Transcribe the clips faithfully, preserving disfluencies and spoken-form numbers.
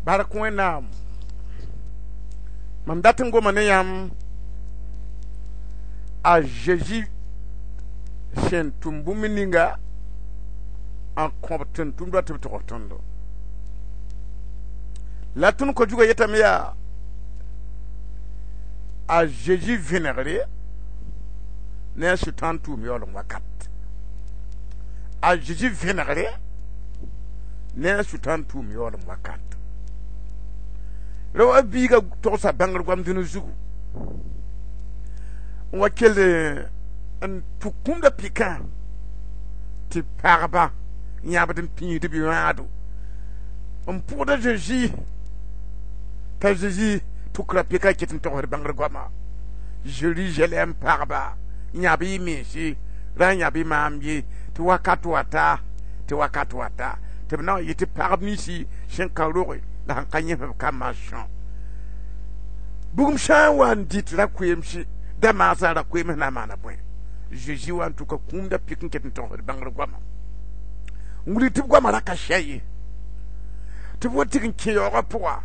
Bark Wẽnnaam mam dat n goma ne yãmb a Zeezi sẽn tʋm bũmb ninga n kõb tʋm-tʋmdba tɩ b tog tõndo la tõnd ko-zugã yetame yaa a Zeezi vẽnegre ne a Sʋtãan tʋʋm yaoolem wakat a Zeezi vẽnegre ne a Sʋtãan tʋʋm yaoolem wakat ra wa biiga togsa bãngr goam dũni zugu n wa kell n tʋk kũmda pɩkã tɩ pagba yãbd n pĩisd b yãado n pʋgd a Zeezi t'a Zeezi tʋkra pɩka ket n togsd bãngr goama Zerizalɛm pagba yãb y mense ra n yãb y maam ye tɩ wakat wata tɩ wakat wata tɩ b na n yet tɩ pagb ninsi sẽn ka roge la sẽn ka yẽs b kambã sõ bugum sã n wa n dɩt ra-koeemse da maasã ra-koeems na n maana bõe Zeezi wa n tʋka kũumda pik n ket n togsd bãngr goama n wilg tɩ b goamã ra ka sɛ ye tɩ b wa tig n kẽ yaoogã pʋga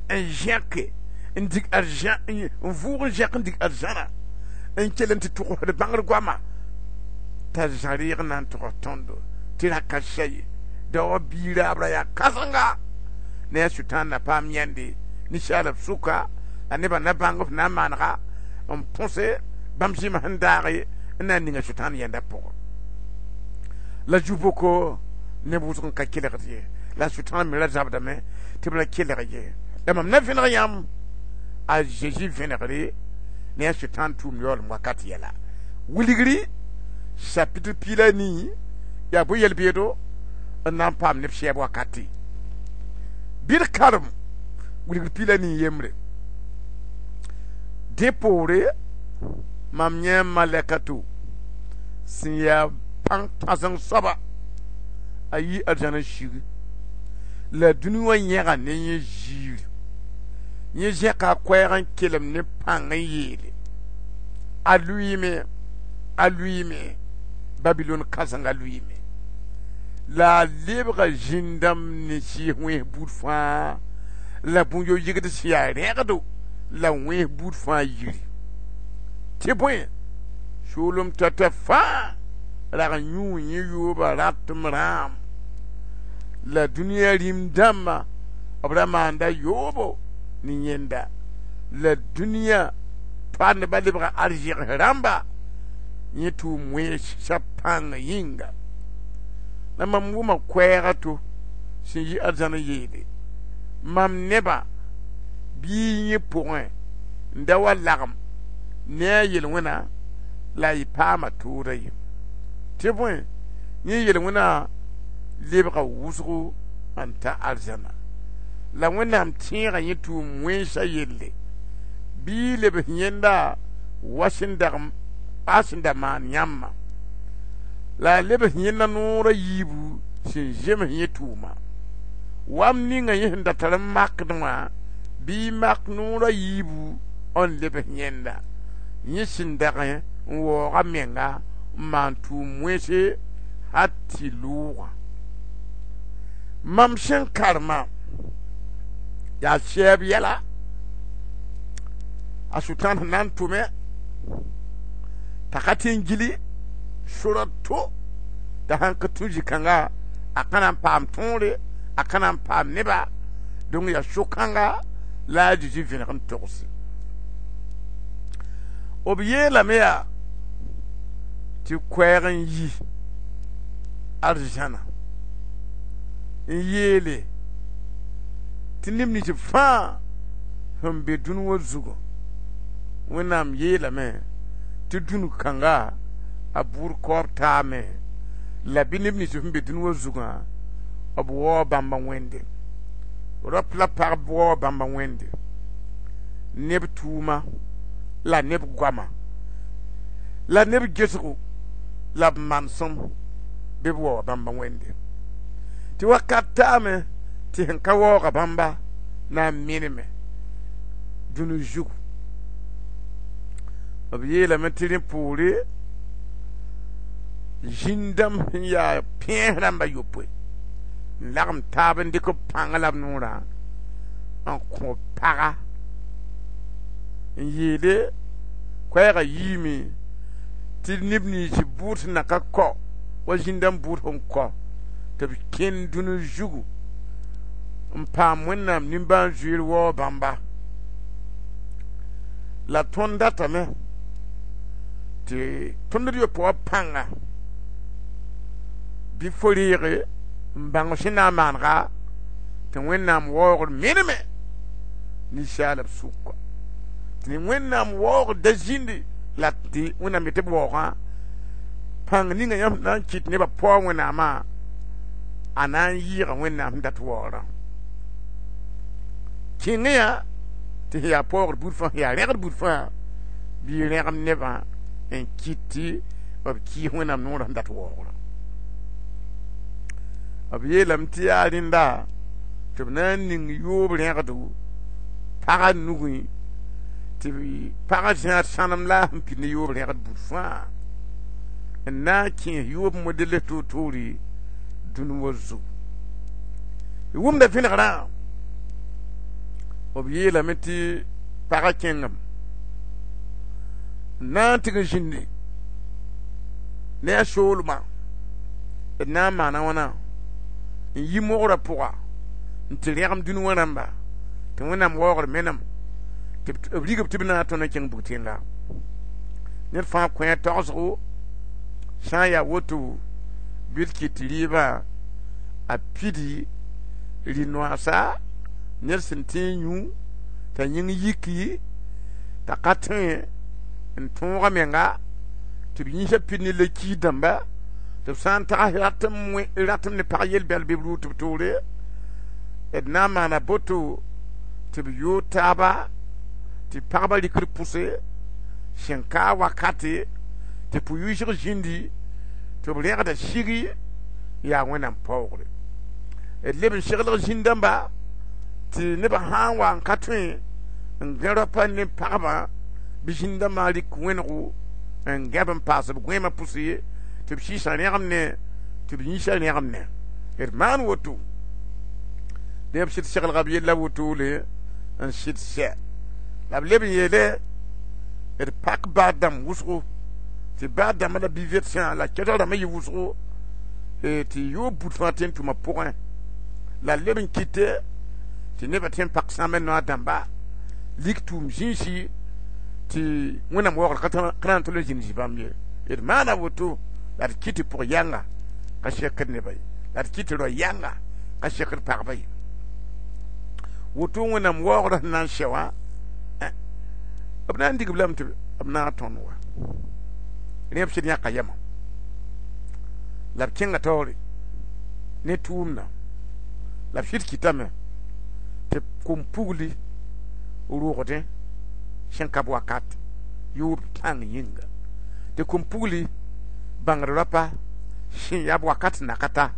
n zẽke n dig arzã n vʋʋg n zẽk n dig arzãna n kell n tɩ tʋgsd bãngr goama t'a zã reeg n na n togs tõndo tɩ ra ka sɛ ye daoog biig raabra yaa kãsenga ne a Sʋtãan na paam yãnde ninsaalb sʋka la nebã na bãng f na n maanega n põse bãmb zĩma sẽn daage n na n ninga Sʋtãan yẽnda pʋgẽ la zu-boko neb wʋsg n ka kelgd ye la Sʋtãan me ra zabdame tɩ b ra kelg ye la mam na vẽneg yãmb a Zeezi vẽnegre ne a Sʋtãan tʋʋm yaoolem wakat yɛla wilgri chapitre piig la nii yaa bõe yel-beedo n na n paam neb sɛɛb wakati bɩ d karem wilgr piig la nii yembre dẽ poore mam yẽ malɛka to sẽn yaa pãng kãseng soaba a yi arzãn n sig la dũni wã yẽga ne yẽ ziir yẽ zẽka a koɛɛg n kelem ne pãng n yeele a lʋɩɩme a lʋɩɩme Babilon kãsengã lʋɩɩme la a lebga zĩn-dãmb ne sɩɩs wẽns buud fãa la bũn-yo-yɩgd sẽn yaa rẽgdo la wẽns buud fãa yiri tɩ bõe soolem tata fãa rag n yũu yẽ yooba ratem rãam la dũniyã rĩm dãmbã b ra maanda yoobo ne yẽnda la dũniyã toandbã lebga arzẽgs rãmba yẽ tʋʋm wẽnsa pãng yĩnga la mam wʋma koɛɛga to sẽn yi arzãn n yeele mam nebã bɩ yẽ pʋgẽ n da wa lagem ne a yel-wẽna la y paama tooda ye tɩ bõe yẽ yel-wẽna lebga wʋsgo n ta arzãna la Wẽnnaam tẽega yẽ tʋʋm wẽnsa yelle bɩ lebs yẽnda wa sẽn dag a sẽn da maan yãmbã la a lebs yẽnda noor a yiibu sẽn zems yẽ tʋʋma wam ninga yẽ sẽn da tar n makd wã bɩ mak noor a yiibu n lebs yẽnda yẽ sẽn dag n waoog a menga n maan tʋʋm wẽnse hal tɩ lʋʋgã mam sẽn karema yaa sɛɛb yɛla a Sʋtãan sẽn na n tʋme t'a ka tɩ n gili sora to t'a sãn ka tũ zĩ-kãnga a ka na n paam tõore a ka na n paam neba donc yaa so-kãnga la a Zeezi vẽneg n togse b yeelame yaa tɩ koɛɛg n yi arzãna n yeele tɩ neb nins fãa sẽn be dũni wã zugu Wẽnnaam yeelame tɩ dũni kãnga a bʋʋd kaoob taame la bɩ neb nins sẽn be dũni wã zugã b waoog bãmba wẽnde rap la pagb waoog bãmba wẽnde neb tʋʋma la neb goama la neb gesgo la b manesem bɩ b waooga bãmba wẽnde tɩ wakat taame tɩ sẽn ka waooga bãmba na n meneme dũni zugu b yeelame tɩ rẽ poore zĩn-dãmb sẽn yaa pẽes rãmba yopoe n lagem taab n dɩk b pãng la b noorã n kõ paga n yeele koɛɛga yiime tɩ neb nins bʋʋd sẽn na ka kao wa zĩndãmb bʋʋd sẽn kao tɩ b kẽnd dũni zugu n paam Wẽnnaam nimbãan-zoeer waoog bãmba. La tõnd datame tɩ tõnd d yopoe wã pãnga bɩ fo reege n bãng sẽn na n maanega tɩ Wẽnnaam waoogr meneme ninsaalb sʋka tɩ Wẽnnaam waoogr da zĩndi la tɩ Wẽnnaam yetɩ b waoogã pãng ninga yãmb na n kɩt nebã paoog Wẽnnaamã a na n yɩɩga Wẽnnaam sẽn dat waoogrã. Kẽngẽ yã tɩ sẽn yaa paoogr buud fãa sẽn yaa rẽgd buud fãa bɩ rẽgem nebã n kɩt tɩ b kɩɩs Wẽnnaam noorã sẽn dat waoogrã. B yeelame tɩ yaa rẽnda tɩ b na n ning yoob rẽgdo pagã nugẽ tɩ pagã zãad sãnem la a sẽn pid ne yoob rẽgd buud fãa n na n kẽes yoob model toor-toore dũni wã zugu. D wʋmda vẽnegrã b yeelame tɩ pagã kẽngame n na n tɩg n zĩndi ne a soolmã d na n maana wãna n yi mogrã pʋga n tɩ rẽgem dũni wã rãmba tɩ Wẽnnaam waoogr menem tɩ b rigb tɩ b na n tõnd n kẽng bug-tẽnga. Ned fãa kõ a tagsgo sã n yaa woto bɩ d kɩt tɩ rɩɩbã a pidi rɩ-noaasa ned sẽn tẽ n yũ t'a yĩng yiki t'a ka tõe n tõog a menga tɩ b yĩsã pid ne la-kiis dãmba tɩ b sã n tags ratem ratem ne pag yel-bɛl bɩ b rʋʋ tɩ b toore d na n maana boto tɩ b yoog taaba tɩ pagba rɩkd pʋse sẽn ka wakate tɩ pʋ-yʋɩsg zĩndi tɩ b rẽgda sigi yaa Wẽnnaam paoogre. D leb n seglg zĩn-dãmba tɩ nebã sã n wa n ka tõe n gã raopa ne pagbã bɩ zĩn-dãmbã rɩk wẽnego n gãb n paas b gõeemã pʋse tɩ b sɩɩsã rẽgem ne tɩ b yĩsã rẽgem ne. D maan woto dẽ b sɩd seglga b yella wotole n sɩd sɛ la b leb n yeele d pak baad dãmb wʋsgo tɩ baad dãmbã la bi-vetsã la kɛtg rãmbã yɩ wʋsgo tɩ yoob bud fãa tõe n tʋma pʋgẽ la leb n kɩte tɩ nebã tõe n pak sãamẽ noa dãmba lik tʋʋm zĩisi tɩ Wẽnnaam waoogr ka na n tol n zĩnd zĩ bãmb ye. D maana woto la d kɩt tɩ pʋg yãnga ka sekd nebã ye la d kɩt tɩ rao yãnga ka sekd pagba ye. Woto Wẽnnaam waoogrã sẽn na n sɛ wã b na n dig b lame tɩ b na n tõnd wa rẽ b sɩd yãka yɛmã la b kẽnga taoore ne tʋʋmdã la b sɩd kɩtame tɩ kom-pugli rʋgdẽ sẽn ka b wakat yoob pãng yĩnga tɩ kom-pugli bãngd raopa sẽn yaa b wakat sẽn na ka ta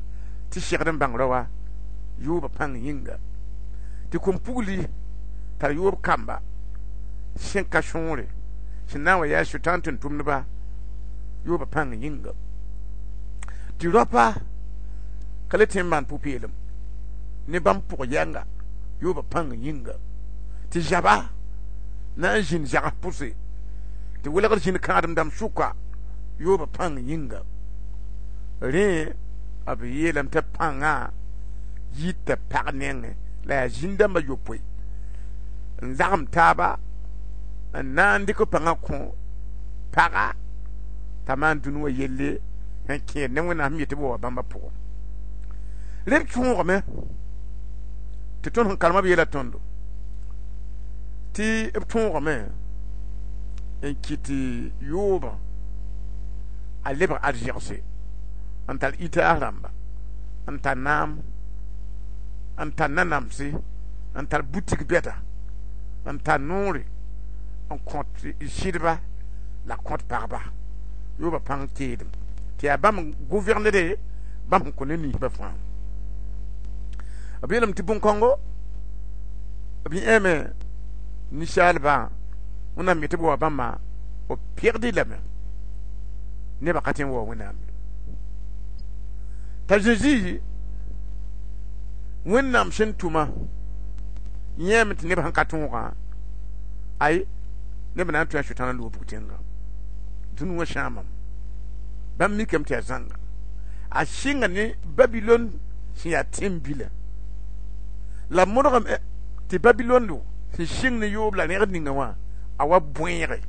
tɩ segd n bãng rao wã yooba pãng yĩnga tɩ kom-pugli tar yoob kamba sẽn ka sõore sẽn na n wa yaa sʋtãan tʋm-tʋmdba yooba pãng yĩnga tɩ raopa ka le tõe n maan pʋ-peelem ne bãmb pʋg yɛnga yooba pãng yĩnga tɩ zaba na n zĩnd zags pʋse tɩ welgd zĩnd kãadem dãmb sʋka yooba pãng yĩnga. Rẽ b yeelame tɩ pãngã yita pag nengẽ la yaa zĩn-dãmbã yopoe n lagem taaba n na n dɩk pãngã kõ paga t'a maan dũni wã yelle sẽn kẽed ne Wẽnnaam sẽn yet tɩ b wa bãmba pʋgẽ. Rẽ b tõogame tɩ tõnd sẽn karema b yeela tõndo tɩ b tõogame n kɩt tɩ yoobã a lebg arzegse n tar itaas rãmba n tar naam n tar nanamse n tar butik bɛda n tar noore n kõt sɩdba la kõt pagba yooba pãng teedem tɩ yaa bãmb gouvernede bãmb sẽn kõ ne ninsbã fãa. B yeelame tɩ bõn-kãngo b yẽeme ninsaalbã Wẽnnaam yetɩ b wa bãmba b pegd lame nebã ka tõe n waoog Wẽnnaam ye. T'a Zezi Wẽnnaam sẽn tʋma Yẽeme tɩ neb sẽn ka tõogã, ay, neb na n tõe a Sʋtãan n loog bug-tẽnga. Dũni wã sãamame. Bãmb mikame tɩ yaa zãnga. A sɩnga ne Babilon sẽn yaa tẽn-bila. La modgame tɩ Babilon sẽn sɩng ne yoob la rẽgd ninga wã a wa bõeege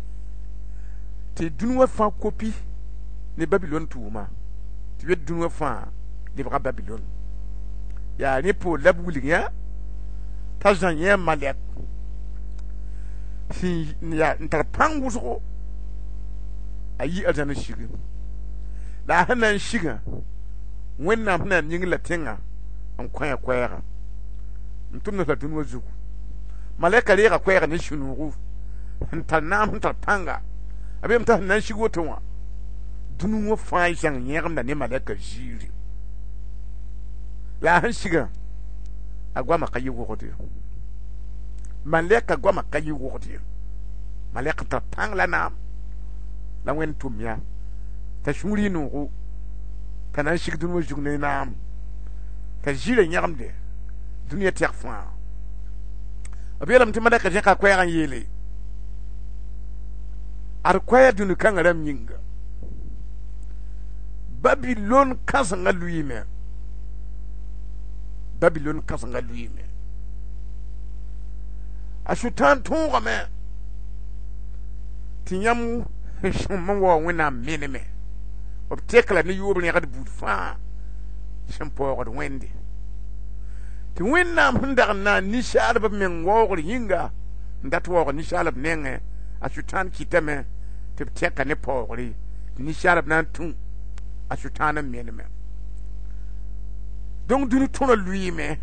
tɩ dũni wã fãa kopi ne Babilon tʋʋma, tɩ b yet dũni wã fãa lebga Babilon. Yaa rẽ poor la b wilg yã t'a Zã yẽ malɛk sẽn yaa n tar pãng wʋsgo, a yi arzãn n sigi. La a sẽn na n sigã, Wẽnnaam sẽn na n ning la tẽngã n kõ a koɛɛga n tʋmd la dũni wã zugu. Malɛka reega koɛɛga ne sũ-noogo sẽn tar naam, sẽn tar pãnga. A beem t'a sẽn na n sig woto wã, dũni wã fãa zãng yẽgemda ne malɛka ziiri. La a sẽn sigã, a goamã ka yɩ wogd ye. Malɛka goamã ka yɩ wogd ye. Malɛk n tar pãng la naam la Wẽnd tʋm yã t'a sũur yɩ noogo t'a na n sig dũni wã zug ne naam t'a ziirã yẽgemde dũniyã tɛk fãa. B yeelame tɩ malɛka zẽka koɛɛg n yeele: ad koɛɛ dũni kãngã rãmb yĩnga, Babilon kãsengã lʋɩɩme, Babilon kãsengã lʋɩɩme, a Sʋtãan tõogame tɩ yãmb sẽn n wao Wẽnnaam meneme. B tek la ne yoob rẽgd buud fãa sẽn paoogd Wẽnde, tɩ Wẽnnaam sẽn dag n na n ninsaalb b meng waoogr yĩnga n dat waoog ninsaalb nengẽ, a Sʋtãan kɩtame tɩ b tɛka ne paoogre tɩ ninsaalb na n tũ a Sʋtãan n meneme. Donc dũni tõrã lʋɩɩme.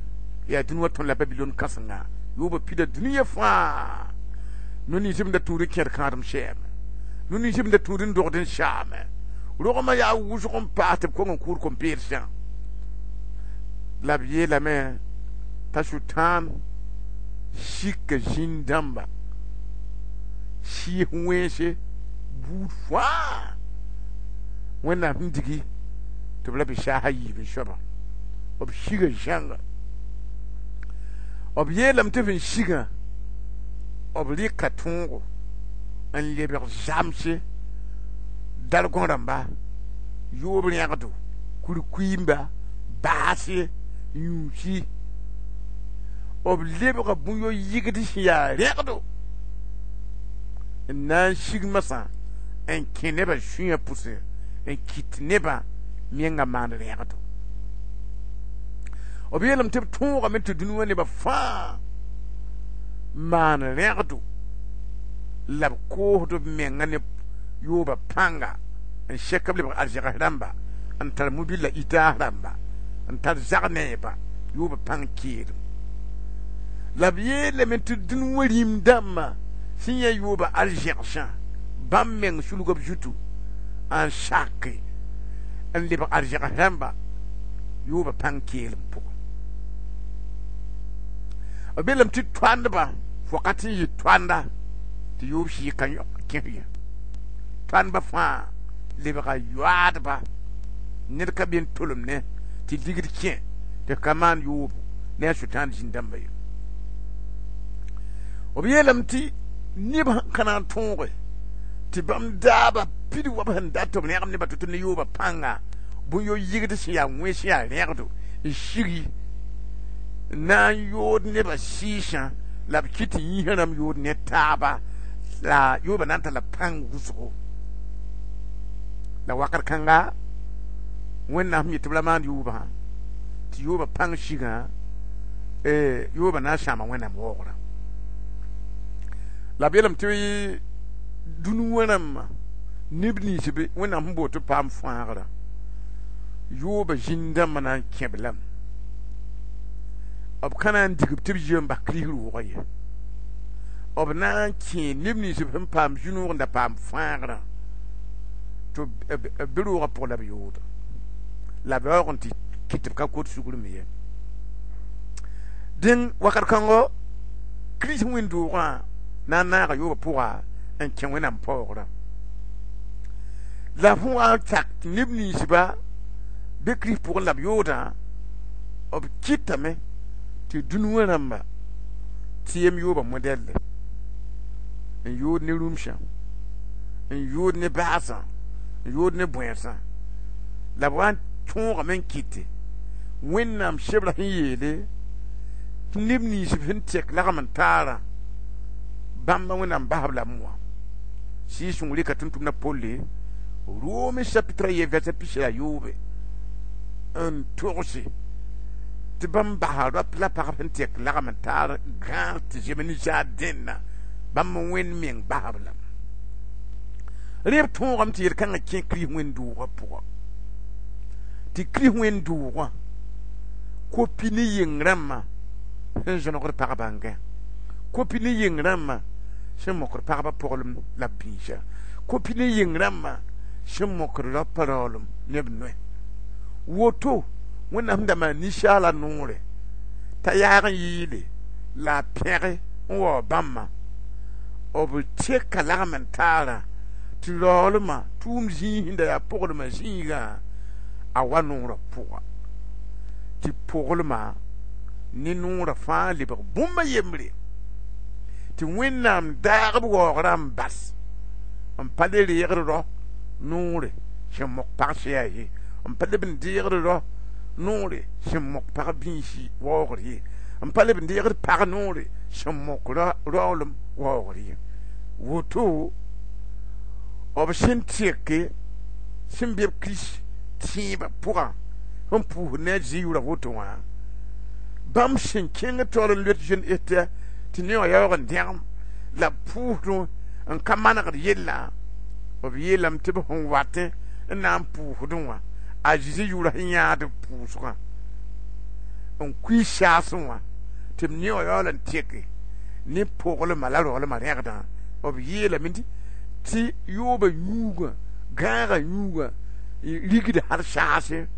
Yaa dũni wã tõr la Babilon kãsenga yoobã pida dũniyã fãa. No-ninsb n da tũud n kẽed kãadem sɛɛme, no-ninsb n da tũud n dogd n saame, rogmã yaa wʋsg n paas tɩ b kong n kʋʋd kom-peedsã. La b yeelame t'a Sʋtãan sika zĩn-dãmba sɩɩs wẽnse buud fãa Wẽnnaam sẽn digi tɩ b la bɩ saas a yiib n soabã. B siga zãnga. B yeelame tɩ sẽn sigã, b rɩka tõogo n lebg zamse dargõ rãmba, yoob rẽgdo, kurkuimba, baase, yũusi. B lebga bũn-yo-yɩgd sẽn yaa rẽgdo n na n sig masã n kẽ nebã sũyã pʋse n kɩt nebã mengã maan rẽgdo. B yeelame tɩ b tõogame tɩ dũni wã nebã fãa maan rẽgdo la b koosd b menga ne yooba pãnga n sɛk b lebg arzɛgs rãmba n tar mobila itaas rãmba n tar zag neeba yooba pãng keelem. La b yeelame tɩ dũni wã rĩm dãmbã sẽn yã yooba arzɛgsã, bãmb meng sulga b zutu n sake n lebg arzɛgs rãmba yooba pãng keelem pʋgẽ. B yeelame tɩ toandba wakat n yɩ toanda tɩ yoob sɩɩg ka kẽs ye. Toandba fãa lebga yoaadba, ned ka be n tolem ne tɩ ligd kẽ tɩ ka maan yoobo ne a Sʋtãan zĩn-dãmba ye. B yeelame tɩ neb sẽn ka na n tõoge tɩ bãmb daaba pid wa b sẽn dat tɩ b rẽgem nebã tʋ-tʋ ne yooba pãnga bũn-yo-yɩgd sẽn yaa wẽ sẽn yaa rẽgdo n sigi n na n yood nebã sɩɩsã la b kɩt tɩ yĩsã rãmb yood ne taaba la yooba na n tara pãng wʋsgo. La wakat kãnga, Wẽnnaam sẽn yet tɩ b ra maan yoobã tɩ yooba pãng sigã, yooba na n sãama Wẽnnaam waoogrã. La b yeelame tɩ dũni wã rãmbã neb nins be Wẽnnaam sẽn bool tɩ b paam fãagrã, yooba zĩn-dãmbã na n kẽ-b lame. B ka na n dig-b tɩ b yɩ n bas Kirist roogã ye. B na n kẽe neb nins sẽn paam zu-noog n da paam fãagrã tɩ b be roogã pʋgẽ la b yooda la b yaoog n tɩ kɩt tɩ b ka kot sugr me ye. Dẽn wakat kãngo, Kirist wẽnd-doogã na n naaga yoobã pʋga n kẽ Wẽnnaam paoogrã. La fõ wa n sak tɩ neb ninsba be Kirist pʋgẽ la b yoodã, b kɩtame tɩ dũni wã rãmba Tɩ yem yooba modɛlle n yood ne rũmsã, n yood ne baasã, n yood ne bõeensã, la b wa n tõogame n kɩte Wẽnnaam sebra sẽn yeele tɩ neb nins b sẽn tek lagm n taarã bãmba Wẽnnaam basb lame wã. Sɩɩg-sõng rɩka tʋm-tʋmdã Polle Rome chapitre a ye verset pis la yoobe n togse tɩ bãmb basa rap la pagb sẽn tek lagm n taar gãag tɩ zem ninsaar dẽnna bãmb Wẽnd meng basb lame. Rẽ b tõogame tɩ yel-kãngã kẽ Kirist wẽnd-doogã pʋga, tɩ Kirist wẽnd-doogã kopi ne yeng rãmbã sẽn zõnegd pagbã n gã, kopi ne yeng rãmbã sẽn mokd pagbã poglem la b biisã, kopi ne yeng rãmbã sẽn mokd raopa raoolem ne b noe. Woto Wẽnnaam sẽn da maan ninsaala noore t'a yaag n yɩɩle la a pẽge n wao bãmba, b teka lagm n taarã tɩ raoolmã tʋʋm zĩig sẽn da yaa poglmã zĩigã a wa noorã pʋga, tɩ poglmã ne noorã fãa lebg bũmb a yembre, tɩ Wẽnnaam daag b waoogrã n bas n pa le reegd rao noore sẽn mok pag sɛa ye, n pa leb n deegd rao noore sẽn mok pag biisi waoogr ye, n pa leb n deegd pag noore sẽn mok raoolem waoogr ye. Woto b sẽn teke sẽn be b Kirist tẽebã pʋgã sẽn pʋʋsd ne a Zĩ yʋra woto wã, bãmb sẽn kẽng taoor n loet zoen tɩ tɩ ne wã yaoog n dẽgem la b pʋʋsdẽ n ka manegd yellã, b yeelame tɩ b sẽn watẽ n na n pʋʋsdẽ wã a Zezi yʋʋra sẽn yãad b pʋʋsgã n kuiis saasẽ wã tɩ b ne wã yaool n teke ne poglmã la raoolmã rẽgdã. B yeelame tɩ yooba yũugã gãagã yũugã rigd hal saase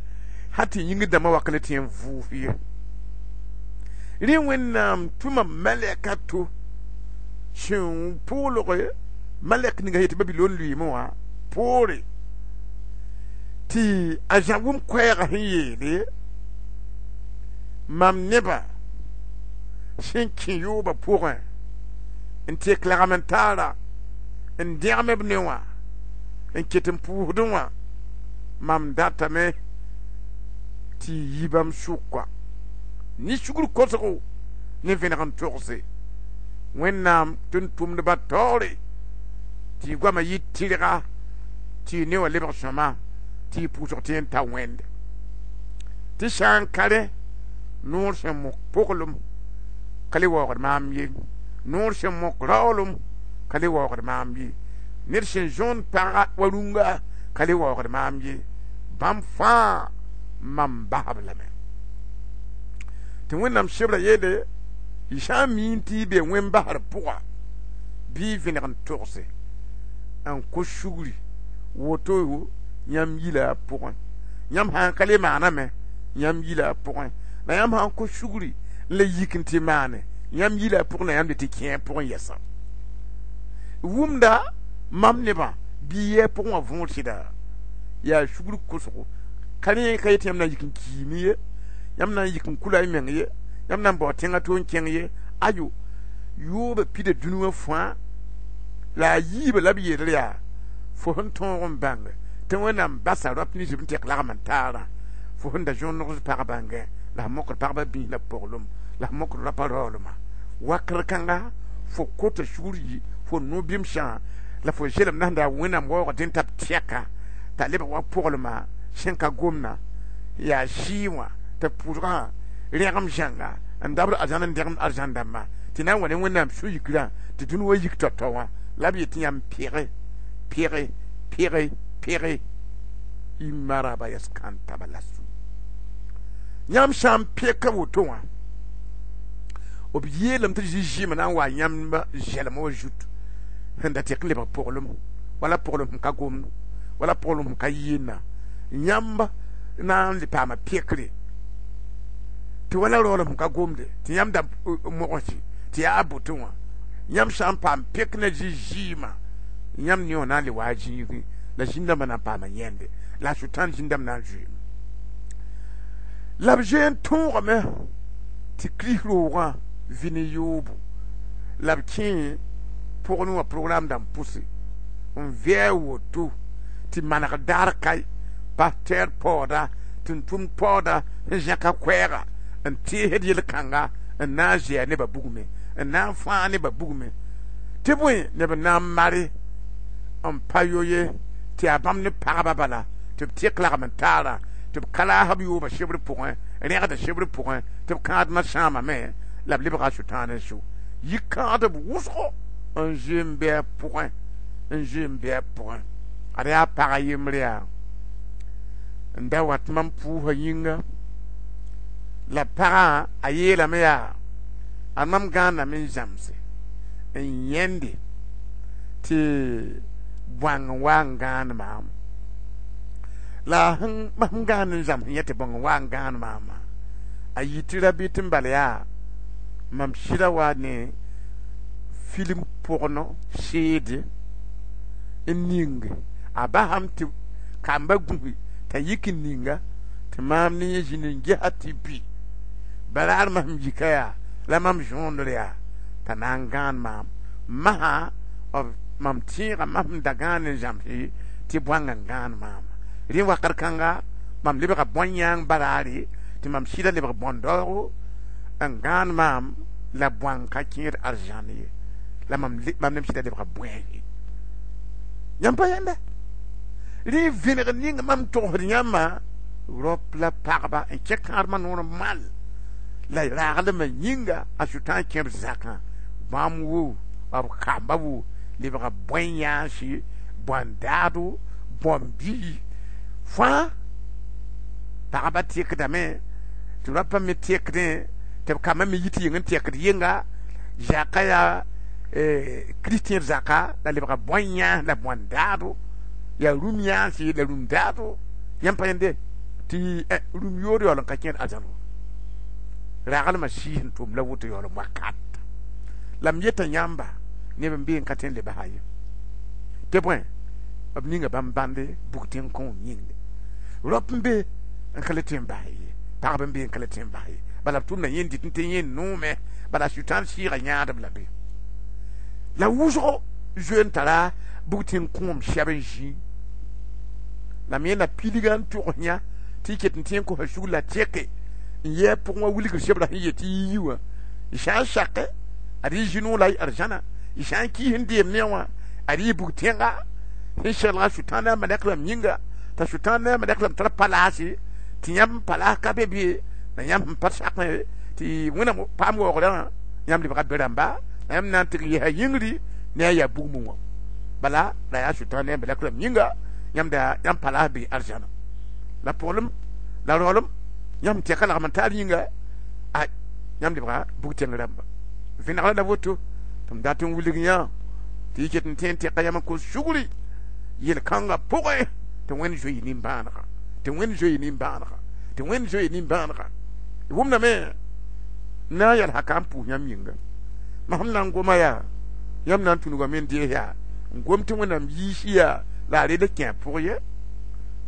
hal tɩ yĩngr dãmbã wak le tɩ n vʋʋs ye. Rẽ Wẽnnaam tʋma malɛka to sẽn pʋʋlge malɛk ninga yetɩ Babilon lʋɩɩmẽ wã poore tɩ a Zã wʋm koɛɛgã sẽn yeele mam nebã sẽn kẽ yoobã pʋgẽ n tek lagm n taara n dẽgem b ne wã n ket n pʋʋsdẽ wã, mam datame tɩ y yi bãmb sʋka ne sugr kosgo ne vẽneg n togse Wẽnnaam tʋm-tʋmdbã taoore tɩ y goamã yɩ tɩrga, tɩ y ne wã lebg sõma, tɩ y pʋʋsg tɩ n ta Wẽnde. Tɩ sã n ka rẽ noor sẽn mok poglem ka le waoogd maam ye, noor sẽn mok raoolem ka le waoogd maam ye, ned sẽn zõond paga wa rũnga ka le waoogd maam ye, bãmb fãa mam basb lame. Tɩ Wẽnnaam sebra yeele y sã n miin tɩ y be wẽn basr pʋga bɩ y vẽneg n togse n kos sugri woto yãmb yila a pʋgẽ. Yãmb sã n ka le maaname yãmb yila a pʋgẽ, la yãmb sã n kos sugri n la yik n tɩ maane yãmb yila a pʋgẽ, la yãmb le tɩ kẽ a pʋgẽ yɛsa. Wʋmda mam nebã bɩ yɛ a pʋgẽ wã võor sɩda yaa sugr kosgo ka rẽ ka yet yãmb na n yik n kiime ye, yãmb na n yik n kula y meng ye, yãmb na n bao tẽngã to n kẽng ye. Ayo, yoobã pida dũni wã fãa la a yiibã la b yeelr yaa fo sẽn tõog n bãnge tɩ Wẽnnaam basa rap nins b tek lagm n taarã, fo sẽn da zõnegd pag bãngẽ la sẽn mokd pagbã biis la poglem la sẽn mokd rapa raoolmã wakr kãnga fo kota sugr yi fo no-bɩmsã la fo zelem na sẽn da Wẽnnaam waoog dẽn t'a b tɛka t'a lebg wa poglmã sẽn ka gomna yaa sɩɩ wã tɩ pʋʋsgã rẽgem zãnga n dabd arzãn n dẽgemd arzãn dãmbã tɩ na n wa ne Wẽnnaam sũ-yikrã tɩ dũni wa yik tao-tao wã la b yet tɩ yãmb pẽge pẽge pẽge pẽge y maraba yas kãntaba la su. Yãmb sã n peka woto wã b yeelame tɩ zĩ zɩɩmã na n wa yãmb zɛlem wã zut sẽn da tek n lebg poglem wala poglem sẽn ka gomd wala poglem sẽn ka yɩɩnda yãmb na n le paama pekre tɩ wala raoolem sẽn ka gomde tɩ yãmb da mogse tɩ yaa a botẽ wã. Yãmb sã n paam pek ne zĩ zɩɩmã yãmb ne wã na n le wa a zĩigẽ la zĩn-dãmbã na n paama yẽnde la a sʋtãan zĩn-dãmb na n zoeeme. La b zoe n tõogame tɩ Kirist roogã vɩ ne yoobo. La b kẽ pʋgẽ wã program dãmb pʋse n vɩ a woto tɩ maneg daar ka pasteur paooda, tʋm-tʋmd paooda sẽn zẽka koɛɛga n teesd yel-kãnga n na n zɛɛ nebã bugmẽ, n na n fãag nebã bugmẽ, tɩ bõe neb n na n mare n pa yo ye tɩ yaa bãmb ne pagba bala tɩ b tɩk lagm n taara, tɩ b ka laas b yooba sebr pʋgẽ, rẽgda sebr pʋgẽ, tɩ b kãadmã sãamame la b lebga Sʋtãan n so yik-kãadb wʋsgo n zoe n bɩ a pʋgẽ, n zoe n bɩ a pʋgẽ. Ad yaa pag yembre yaa n da wat mam pʋʋsã yĩnga la pagã a yeelame yaa a mam gãaname n zãmse n yẽnde tɩ bõang n wa n gãan maam la sẽn gãan n zãms yẽ tɩ bõng n wa n gãan maama a yɩ tɩ rabɩt n bal yaa mam sɩda wa ne film pʋgno seede n ning a basam tɩ kamba gũsi t'a yik n ninga tɩ maam ne yẽ zĩnd n gesa tɩ bɩ baraar masem yika yaa la mam zõondr yaa t'a na n gãan maam masã mam tẽega masem da gãan n zãmse tɩ bõang n gãan maama. Rẽ wakat kãnga mam lebga bõn-yãang baraare tɩ mam sɩda lebg bõn-daoogo n gãan maam la bõang ka kẽed arzãn ye la mam mam nem sɩda lebga bõeese. Yãmb pa yẽnda rẽ vẽneg ning mam togsd yãmbã rap la pagba n kẽ kãadmã noor mal la raglmã yĩnga a Sʋtãan kẽ b zakã bãmb wo b kamba wo lebga bõe-yãansi, bõn-daado, bõn-bii fãa. Pagba tekdame tɩ rapa me tekdẽ tɩ b kambã me yit yeng n tekd yenga zakã yaa kristien zaka la lebga bõe-yãans la bõn-daado, yaa rũm yãansi la rũm daado. Yãmb pa yẽnde tɩ rũm yood yaool n ka kẽed arzãn raglmã sɩɩs n tʋm la woto yaool n wakat la m yeta yãmba neb n bee n ka tõe n le basa ye tɩ bõe b ninga bãmb bãnde bug tẽng kõom yĩnge rap n be n ka le tõe n bas ye, pagb n be n ka le tõe n bas ye, bala b tʋmda yẽnd dɩt n tɩ yẽnd noome bala Sʋtãan sɩɩga yãadb la be la wʋsgo zoe n tara bug tẽng kõom sɛb n zĩ la m yẽnda pilga n togs yã tɩ y ket n tẽ n kosa sugr la tɛke n yɛɛ pʋgẽ wã wilgr sebra sẽn yet tɩ yi wã y sã n sake ad y zĩ-noog la y arzãna, y sã n kiis n deem ne wã ad y bug tẽnga sẽn seglga Sʋtãan ne a malɛk rãmb yĩnga t'a Sʋtãan ne a malɛk rãmb tar palaase tɩ yãmb palaas ka be bɩ la yãmb sẽn pa sakẽ tɩ Wẽnnaam paam waoogrã yãmb lebga be rãmba la yãmb na n tɩg n yɛsa yĩngri ne a yaa bugmẽ wã bala la yaa Sʋtãan ne a malɛk rãmb yĩnga yãmb da yãmb palaas bee arzãna la pʋglem la raoolem yãmb tɛka lagm n taar yĩnga a yãmb lebga bug tẽng rãmba vẽnegra la woto tɩ m dat n wilg yã tɩ y ket n tẽ n tɛka yãmb n kos sugri yel-kãngã pʋgẽ tɩ Wẽnd zoe nimbãanega, tɩ Wẽnd zoe nimbãanega, tɩ Wẽnd zoe nimbãanega. Y wʋmdame na n yɛl haka n pʋʋs yãmb yĩnga masem na n goma yaa yãmb na n tũnugame n dees yaa n gom tɩ Wẽnnaam yiis yaa la a rel kẽ a pʋg ye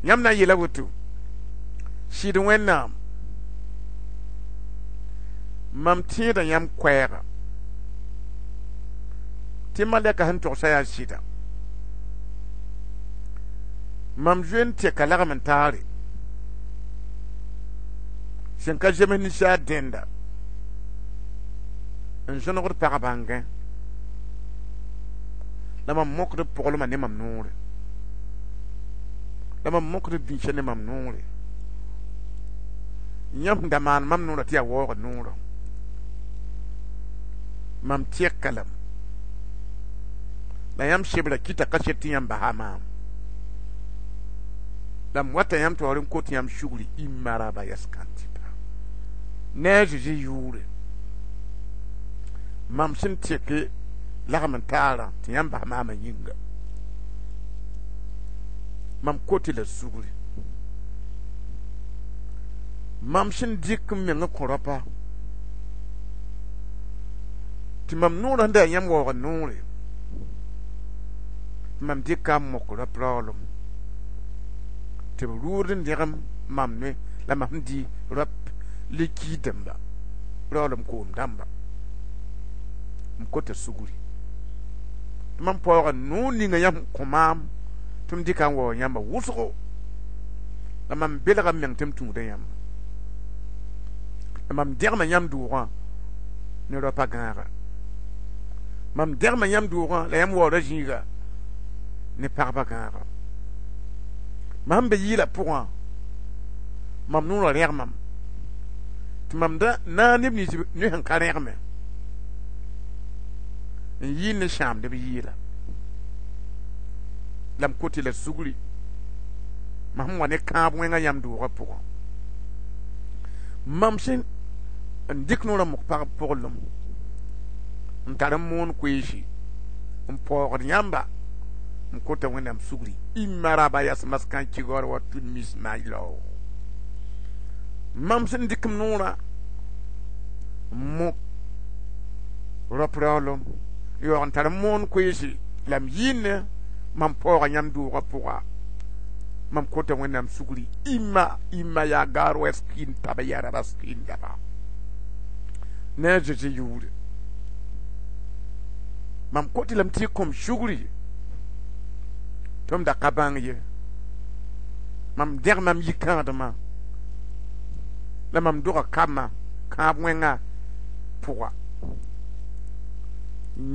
yãmb na n yeela woto sɩd Wẽnnaam mam tẽeda yãmb koɛɛga tɩ malɛka sẽn togsa yaa sɩda mam zoe n tɛka lagm n taare sẽn ka zems ninsaal dẽnda n zõnegd pag bãngẽ la mam mokd pʋglmã ne mam noore la mam mokd bĩsã ne mam noore yãmb da maan mam noorã tɩ yaa waoog noorã mam tɛka lame la yãmb sebra kɩta kaset tɩ yãmb basa maam la m wata yãmb taoor n kot yãmb sugri y maraba yas-kãntɩpa ne a Zeezi yʋʋre mam sẽn tɛke lagm n taarã tɩ yãmb bas maamã yĩnga mam kot la sugri mam sẽn dɩk n meng kõ rapa tɩ mam noorã sẽn da yaa yãmb waoog noore tɩ mam dɩka n mok rap raoolem tɩ b rʋʋd n dẽgem mam ne la mam sẽn dɩ rap likiid dãmba raoolem koom dãmba M kota sugri tɩ mam paooga noor ninga yãmb kõ maam tɩ m dɩka n waoog yãmba wʋsgo la mam belga m meng tɩ m tũuda yãmba la mam dẽgma yãmb doogã ne raopa gãaga mam dẽgma yãmb doogã la yãmb waooda zĩiga ne pagba gãaga mam be yɩɩla pʋgã mam noorã rẽgmam tɩ mam da na neb nins ne sẽn ka rẽgme n yɩɩl ne sãamdb yɩɩla la m kot la sugri mam sẽn wa ne kãab wẽngã yãmb doogã pʋgã mam sẽn n dɩk noorã mok pagb pʋglem n tar n moon koeese n paoogd yãmba n kota Wẽnnaam sugri imaraba yas maskan kigor wa tud mis mailo mam sẽn dɩk m noorã n mok rap raoolem yaoog n tar n moon koeese la m yɩɩne mam paooga yãmb doogã pʋga mam kota Wẽnnaam sugri ima ima yaa gaar wa skin taba yaa raba skin daba ne a Zezi yʋʋre mam kot lame tɩ y kõm sugri tɩ m da ka bãng ye mam dẽg mam yikãadmã la mam doga kambã kãab wẽnga pʋga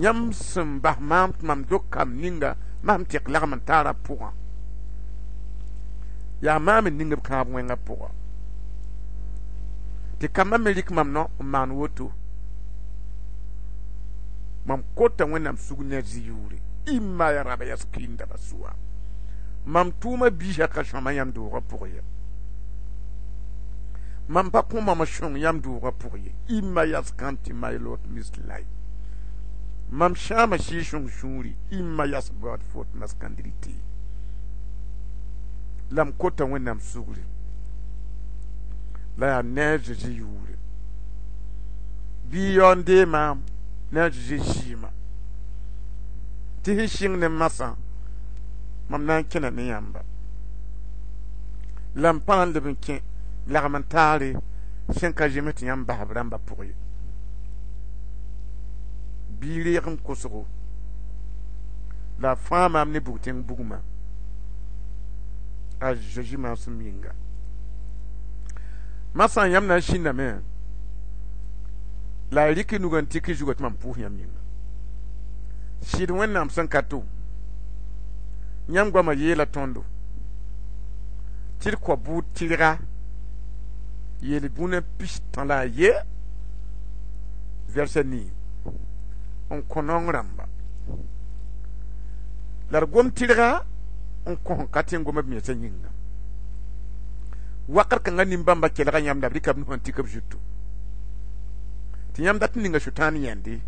yãmb sẽn bas maam tɩ mam dog kamb ninga mam tɩk lagm n taara pʋgã yaa maam n ning b kãab wẽngã pʋga tɩ kambã me rɩk mam no n maan woto mam kota Wẽnnaam sug ne a zĩ yʋʋre ima ya raba yas kĩnda ba sʋa mam tʋʋma biisã ka sõma yãmb doogã pʋg ye mam pa kõ mam sõng yãmb doogã pʋg ye ima yas kãntɩ maylot mislay mam sãama sɩɩg-sõng sũuri ima yas God fot maskandrite la m kota Wẽnnaam sugri la yaa ne a Zezi yʋʋre bɩ yao n dee maam ne a Zezi zɩɩmã tɩ sẽn sɩng ne masã mam na n kẽna ne yãmba la m pa na n leb n kẽ lagm n taare sẽn ka zems tɩ yãmb basb rãmbã pʋg ye bɩ reeg n kosgo la a fãa maam ne bug-tẽng bugmã a Zezi maasem yĩnga masã yãmb na n sĩndame la a rɩk nugã n tik zugã tɩ mam pʋʋs yãmb yĩnga sɩd Wẽnnaam sẽn ka to yãmb goamã yeela tõndo tɩ d kao bʋʋd tɩrga yeel bũna pis-tã la a ye vɛrsa nii n kõ naong rãmba la d gom tɩrga n kõ sẽn ka tẽ n gom b mensã yĩnga wakat kãngã nin-bãmba kelga yãmb la b rɩka b nusã n tik b zutu tɩ yãmb dat n ninga sʋtãan yẽnde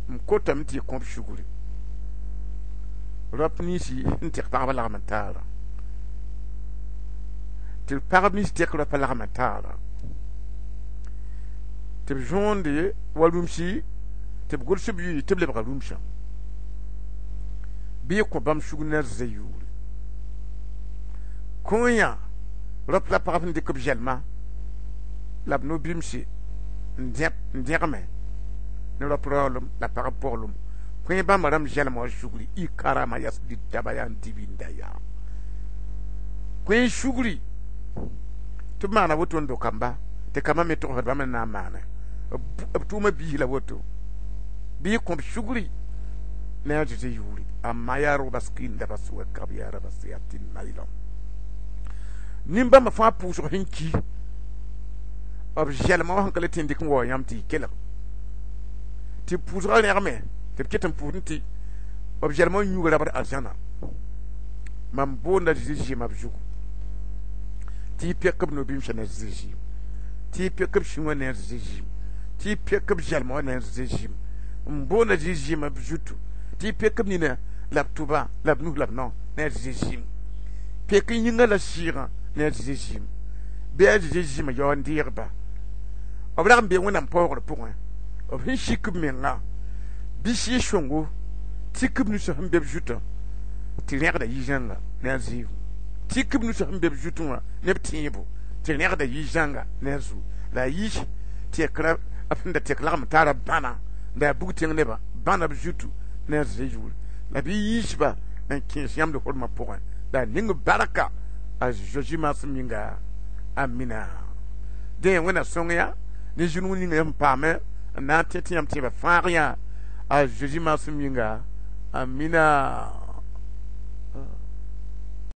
m kotame tɩ y kõb sugri rap ninsi n tɩk pagba lagm n taara tɩ pagb nins tɛk rapa lagm n taara tɩ b zõonde wa rũmsi tɩ b gʋls b yʋɩ tɩ b lebga rũmsã bɩ y kõ bãmb sugr ne a zã yʋʋre kõ yã rap la pagb sẽn dɩk b zɛlma la b no-bimse n dẽgme ne rap raoolem la pagb poglem kõ bãmba rãmb zɛlma wa sugri y karama yas daba yaa n dibinda yaa kõ sugri tɩ b maana woto n do kamba tɩ kambã me togsd bãmb n na n maane b tʋʋma biis la woto bɩ y kõb sugri ne a Zezi yʋʋre amma yaa robas kĩnda ba sʋga kab yaa rabas yaa tɩ maylom nin-bãmba fãa pʋʋsg sẽn ki b zɛlma wã sẽn ka le tɩ n dɩk n waoog yãmb tɩ y kelg tɩ pʋʋsgã rẽgme tɩ b ket n pʋʋsd tɩ b zɛlma wã yũuga rabd arzãna mam boonda Zezi zɩɩmã b zugu tɩ y pek b no-bimsã ne a Zezi zɩɩm tɩ y pek b sũ wã ne a Zezi zɩɩm tɩ y pek b zɛlma wã ne a Zezi zɩɩm n boonda Zezi zɩɩmã b zutu tɩ y pek b nina la b tʋba la b nus la b nao ne a Zezi zɩɩm pek yĩngã la sɩɩgã ne a Zezi zɩɩm bɩ a Zezi zɩɩmã yao n deegba b rag n bee Wẽnnaam paoogr pʋgẽ b sẽn sik b menga bɩ sɩɩg-sõngo tik b nusã sẽn be b zutã tɩ rẽgda yi-zãnga ne a zɩɩm tik b nusã sẽn be b zutẽ wã ne b tẽebo tɩ rẽgda yi-zãnga ne a zu la a yis tɩ B sẽn da tek lagm taara bãna n da yaa bug tẽng nebã, bãna b zutu ne a Zezi yʋʋre la bɩ yiisba n kẽes yãmb d hormã pʋgẽ la a ning barka a Zeezi maasem yĩnga. Amina. Dẽ Wẽnna sõng ya ne zĩrung ninga yãmb paame n na n tẽ tɩ yãmb tẽebã fãag yã a Zeezi maasem yĩnga. Amina.